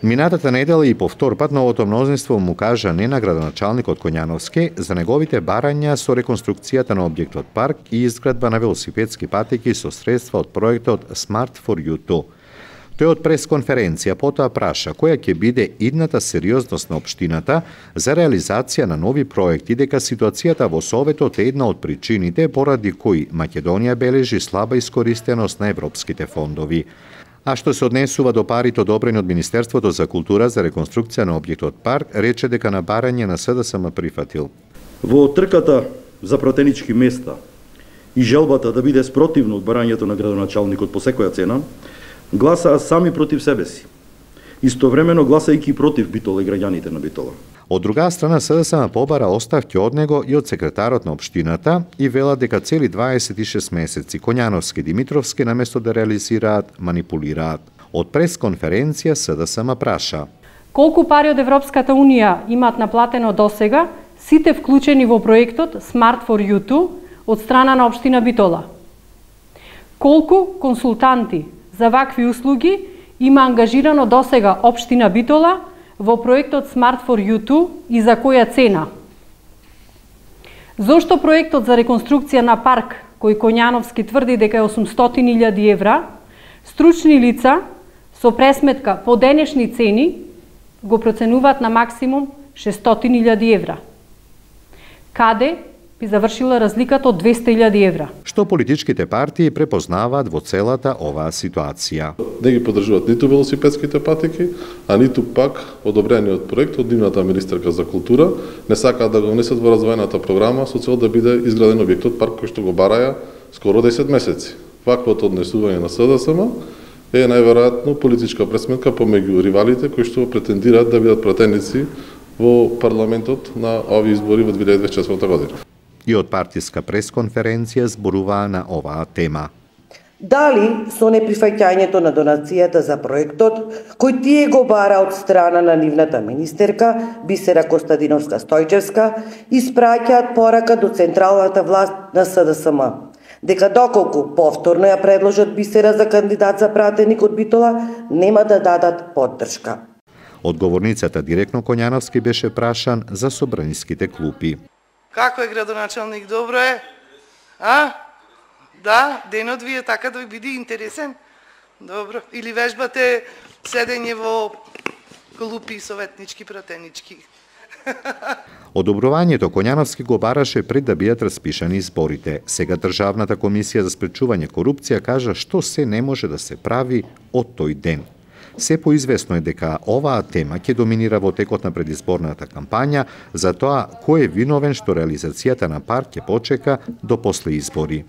Минатата недела и по втор пат новото мнозинство му кажа не на градоначалникот Коњановски за неговите барања со реконструкцијата на објектот парк и изградба на велосипедски патеки со средства од проектот Smart for You Too. Тој од пресконференција потоа праша која ќе биде идната сериозност на општината за реализација на нови проекти, дека ситуацијата во Советот е една од причините поради кои Македонија бележи слаба искористеност на европските фондови. А што се однесува до парите одобрени од Министерството за култура за реконструкција на објектот парк, рече дека на барање на СДСМ прифатил. Во трката за пратенички места и желбата да биде спротивно од барањето на градоначалникот по секоја цена, гласаа сами против себе си, истовремено гласајќи против Битола и граѓаните на Битола. Од друга страна, СДСМ побара оставки од него и од секретарот на општината и вела дека цели 26 месеци Коњановски и Димитровски наместо да реализираат, манипулираат. Од пресконференција СДСМ праша: колку пари од Европската Унија имаат наплатено досега сите вклучени во проектот Smart for You Too од страна на општина Битола? Колку консултанти за вакви услуги има ангажирано досега општина Битола во проектот Smart for You Too и за која цена? Зошто проектот за реконструкција на парк, кој Коњановски тврди дека е 800.000 евра, стручни лица со пресметка по денешни цени го проценуваат на максимум 600.000 евра? Каде би завршила разликата од 200.000 евра? Што политичките партии препознаваат во целата оваа ситуација? Не ги поддржуваат ниту велосипедските патеки, а ниту пак одобрениот проект од нивната министерка за култура, не сакаат да го внесат во развојната програма со цел да биде изграден објектот парк кој што го бараја скоро 10 месеци. Ваквото однесување на СДСМ е најверојатно политичка пресметка помеѓу ривалите кои што претендираат да бидат пратеници во парламентот на овие избори во 2024 година. И од партиска пресконференција зборуваа на оваа тема. Дали со неприфаќањето на донацијата за проектот, кој тие го бара од страна на нивната министерка Бисера Костадиновска-Стојчевска, испраќаат порака до централната власт на СДСМ, дека доколку повторно ја предложат Бисера за кандидат за пратеник од Битола, нема да дадат поддршка. Одговорницата директно Коњановски беше прашан за собраниските клупи. Како е градоначалник? Добро е? А? Да, денот ви е така да ви биде интересен? Добро. Или вежбате седење во клупи советнички, пратенички? Одобрувањето Коњановски го бараше пред да бидат распишани изборите. Сега Државната комисија за спречување корупција кажа што се не може да се прави од тој ден. Се поизвестно е дека оваа тема ќе доминира во текот на предизборната кампања за тоа кој е виновен што реализацијата на парк ќе почека до после избори.